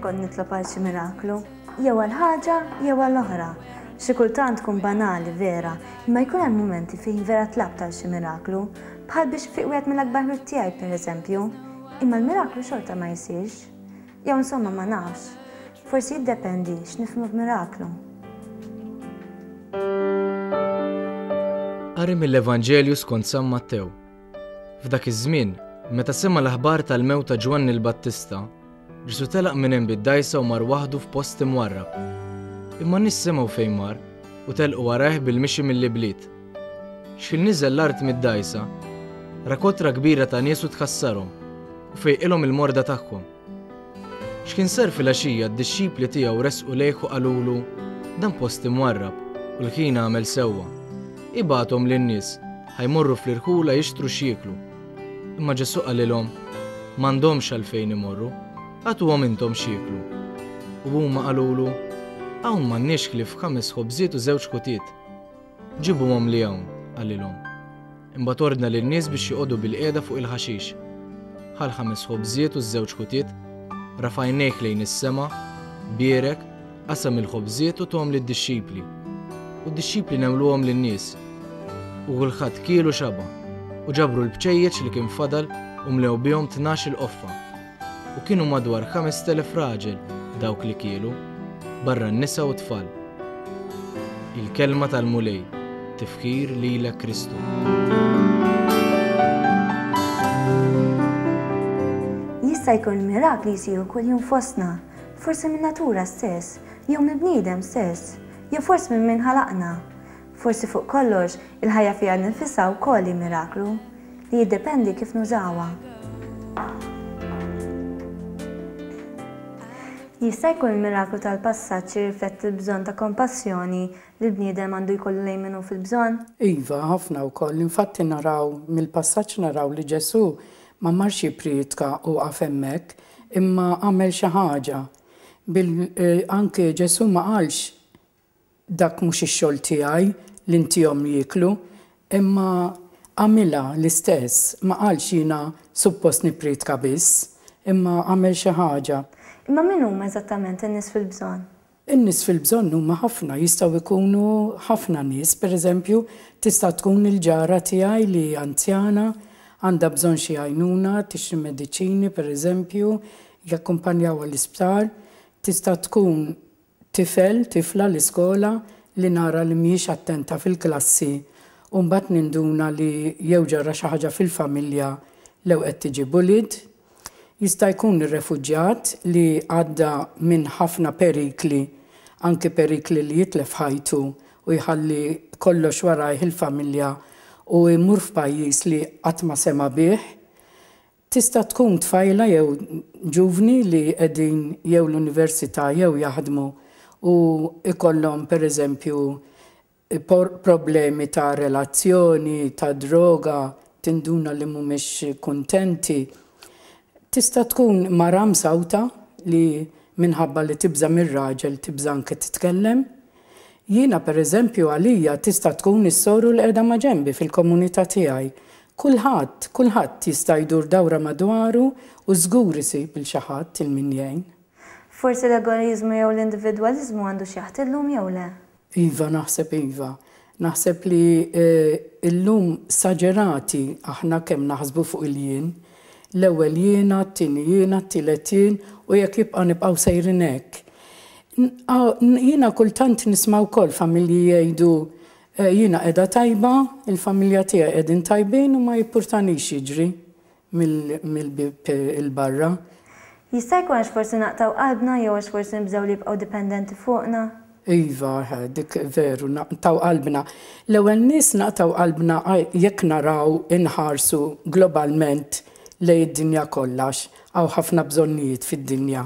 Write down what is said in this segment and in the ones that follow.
kont nitlob għal xi miraklu, jew għal ħaġa jew għal oħra. Xi kultant tkun banali vera, imma jkun hemm mumenti fejn vera tlabt għal xi miraklu, bħal biex ifiq wieħed mill-akbar ħbieb tiegħi pereżempju. Imma l-miraklu xorta ma jsirx. Jew insomma ma nafx. Forsi jiddependi x'nifhmu b'miraklu. Qari mill-Evanġelju skont San Mattew. F'dak iż-żmien, meta sema' l-aħbar tal-mewt ta' Ġwanni l-Battista, Ġesù telaq minn hemm bid-dgħajsa u mar waħdu f'post imwarrab. Imma n-nies semgħu fejn mar u telqu warajh bil-mixi mill-ibliet. X'ħin niżel l-art mid-dgħajsa, ra kotra kbira ta' nies u tħassarhom, u fejqilhom il-morda tagħhom. X'kien sar filgħaxija d-dixxipli tiegħu resqu lejh u qalulu, Dan post imwarrab, u l-ħin għamel sewwa. Ibgħathom lin-nies, ħa jmorru fl-irħula jixtru x'jieklu. Imma Ġesù qalilhom, M'għandhomx għalfejn imorru, agħtuhom intom x'jieklu. U huma qalulu, Hawn m'għandniex ħlief ħames ħobżiet u żewġ ħutiet. Ġibuhomli hawn, qalilhom. Imbagħad ordna lin-nies biex joqogħdu bilqiegħda fuq il-ħaxix. Ħa l-ħames ħobżiet u ż-żewġ ħutiet, rafa' għajnejh lejn is-sema, bierek, qasam il-ħobżiet u tahom lid-dixxipli. U d-dixxipli newluhom lin-nies. U kulħadd kiel u xaba', u ġabru l-bċejjeċ li kien fadal u mlew bihom 12-il qoffa. U kienu madwar 5,000 raġel dawk li kielu, barra n-nisa u t-tfal. Il-Kelma tal-Mulej, Tifħir lilek Kristu. Jista' jkun il-mirakli jsiru kuljum fostna, forsi min-natura stess, jew mill-bniedem stess, jew forsi minn min ħalaqna. Forsi fuq kollox, il-ħajja fiha nnifisha wkoll hi miraklu. Li jiddependi kif nużawha. Jista' jkun il-miraklu tal-passaġġ jirrifletti l-bżonn ta' kompassjoni li l-bniedem għandu jkollu lejn min hu fil-bżonn? Iva, ħafna wkoll. Infatti naraw, mill-passaġġ naraw li Ġesù ma marx jipprietka u waqaf hemmhekk, imma għamel xi ħaġa. Bil, anke Ġesù ma qalx Dak mhux ix-xogħol tiegħi li ntihom jieklu, imma għamilha l-istess, ma qalx jiena suppost nippriedka biss, imma għamel xi ħaġa. Imma min huma eżattament in-nies fil-bżonn? In-nies fil-bżonn huma ħafna, jistgħu jkunu ħafna nies. Per eżempju, tista' tkun il-ġara tiegħi li anzjana, għandha bżonn xi għajnuna, tixtri mediċini per eżempju, jakkumpanjawha l-isptar. Tista' tkun Tifel, tifla l-iskola li nara li mhijiex attenta fil-klassi u mbagħad ninduna li jew ġara xi ħaġa fil-familja lew qed tiġi bullied. Jista' jkun ir-refuġjat li għadda minn ħafna perikli, anki perikli li jitlef ħajtu u jħalli kollox warajh il-familja u jmur f'pajjiż li qatt ma sema' bih. Tista' tkun tfajla jew ġuvni li qegħdin jew l-università jew jaħdmu u jkollhom pereżempju problemi ta' relazzjoni, ta' droga, tinduna li mhumiex kuntenti. Tista' tkun mara msawta li minħabba li tibża' mir-raġel tibża' anke titkellem. Jiena pereżempju għalija tista' tkun is-soru li qiegħda maġenbi fil-komunità tiegħi. Kulħadd, kulħadd jista' jdur dawra madwaru u żgur isib 'il xi ħadd 'il min jgħin. Forsi l-egoiżmu jew l-individwaliżmu għandu x'jaħti llum jew le? Iva, naħseb iva. Naħseb li llum saġerati aħna kemm naħsbu fuq il-jien. L-ewwel jiena, t-tieni jiena, t-tielet jien u jekk jibqa' nibqgħu sejrin hekk. Jiena kultant nisma' wkoll familji jgħidu jiena qiegħda tajba, il-familja tiegħi qegħdin tajbin u ma jippurtanix x'jiġri mill-bieb 'il barra. Jista' jkun għax forsi naqtgħu qalbna jew għax forsi nibżgħu li jibqgħu dipendenti fuqna? Iva, dik veru, naqtgħu qalbna. L-ewwel nies naqtgħu qalbna jekk naraw inħarsu globalment lejn id-dinja kollha għax hawn ħafna bżonnijiet fid-dinja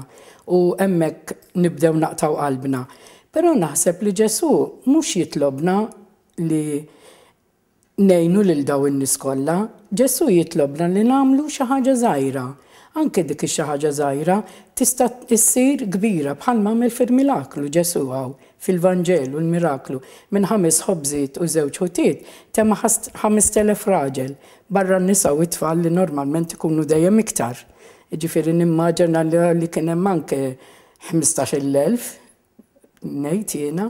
u hemmhekk nibdew naqtgħu qalbna. Però naħseb li Ġesù mhux jitlobna li ngħinu lil dawn in-nies kollha. Ġesù jitlobna li nagħmlu xi ħaġa żgħira. Anke dik ix-xi ħaġa żgħira tista' ssir kbira bħalma għamel fil-miraklu Ġesù hawn fil-Vanġelu l-miraklu minn ħames ħobżiet u żewġ ħutiet tema' 5,000 raġel barra n-nisa u t-tfal li normalment ikunu dejjem iktar. Jiġifieri nimmaġina li kien hemm anke. 15,000, ngħid jiena.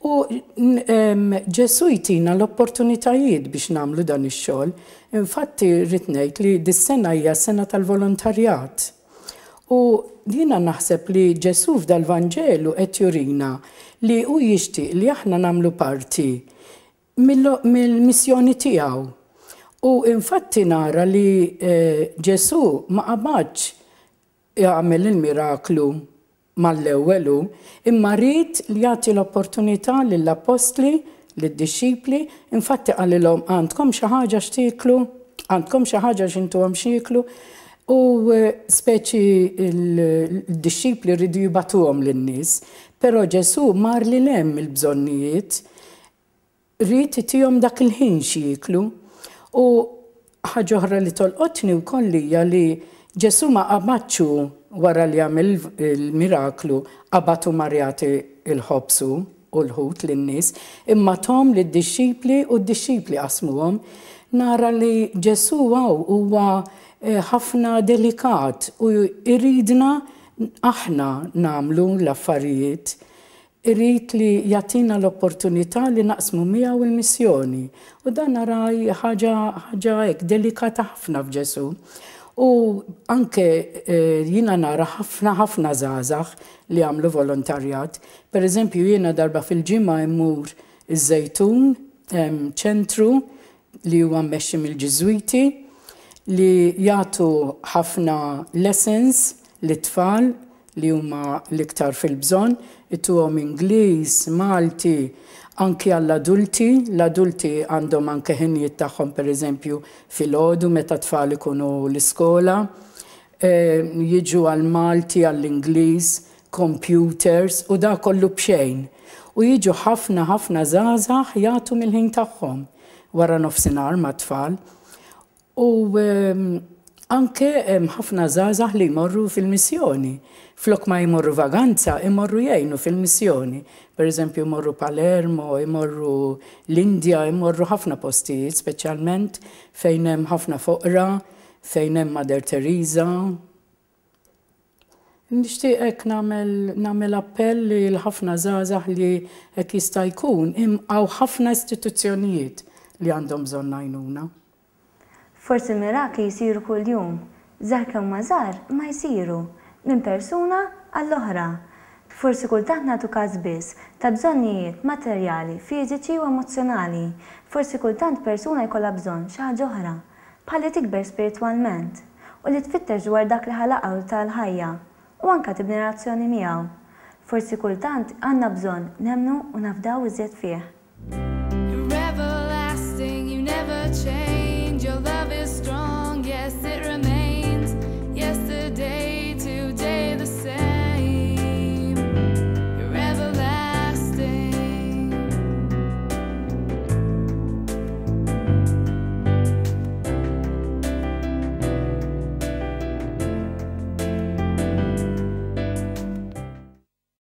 U Ġesù jtina l-opportunitajiet biex nagħmlu dan ix-xogħol. Infatti rrid ngħid li dis-sena hija sena tal-volontarjat. U jiena naħseb li Ġesù f'dal-Vanġelu qed jurina li hu jixtieq li aħna nagħmlu parti mill-missjoni tiegħu. U infatti nara li Ġesù ma qabadx jagħmel il-miraklu mal-ewwel hu, imma ried li jagħti l-opportunità lill-appostli, lid-dixxipli, infatti qalilhom għandkom xi ħaġa x'tieklu? Għandkom xi ħaġa x'intuhom x'jieklu? U speċi l-dixxipli riedu jibagħtuhom lin-nies, però Ġesù mar lil hemm mill-bżonnijiet Ried itihom dak il-ħin x'jieklu. U ħaġa oħra li tolqotni wkoll hija li Ġesù ma qabadx hu wara li għamel il-miraklu qabad u mar jagħti l-ħobż hu u l-ħut lin-nies, imma tahom lid-dixxipli u d-dixxipli qasmuhom. Nara li Ġesù hawn huwa ħafna delikat u jridna aħna nagħmlu l-affarijiet. Irid li jagħtina l-opportunità li naqsmu miegħu l-missjoni. U dan nara ħaġa ħaġa hekk delikata ħafna f'Ġesù. U anke jiena nara ħafna ħafna żgħażagħ li jagħmlu volontarjat. Per eżempju jiena darba fil-ġimgħa immur iż-Żejtun, hemm ċentru li huwa mmexxi mill-Ġiżwiti li jagħtu ħafna lessons lit-tfal li huma l-iktar fil-bżonn, ituhom Ingliż, Malti, anki għall-adulti, l-adulti għandhom anke ħinijiet tagħhom pereżempju filgħodu meta t-tfal ikunu l-iskola, jiġu għall-Malti, għall-Ingliż, computers u da kollu b'xejn. U jiġu ħafna ħafna żgħażagħ jagħtu mill-ħin tagħhom wara nofsinhar mat-tfal. U anke hemm ħafna żgħażagħ li jmorru fil-missjoni. Flok ma jmorru vaganza, imorru jgħinu fil-missjoni. Per eżempju, jmorru Palermo, imorru l-Indja, imorru ħafna postijiet, speċjalment fejn hemm ħafna foqra, fejn hemm Mother Teresa. Nixtieq hekk nagħmel nagħmel appell lil ħafna żgħażagħ li hekk jista' jkun hawn ħafna istituzzjonijiet li għandhom bżonn għajnuna. Forsi l-mirakli jsiru kuljum, żgħar kemm huma żgħar imma jsiru, minn persuna għall-oħra. Forsi kultant nagħtu każ biss ta' bżonnijiet materjali, fiżiċi u emozzjonali. Forsi kultant persuna jkollha bżonn xi ħaġa oħra, bħal li tikber spiritwalment, u li tfittex dwar dak li ħalaqha u ta l-ħajja, u anke tibni relazzjoni miegħu. Forsi kultant għandna bżonn nemmnu u nafdaw iżjed fih.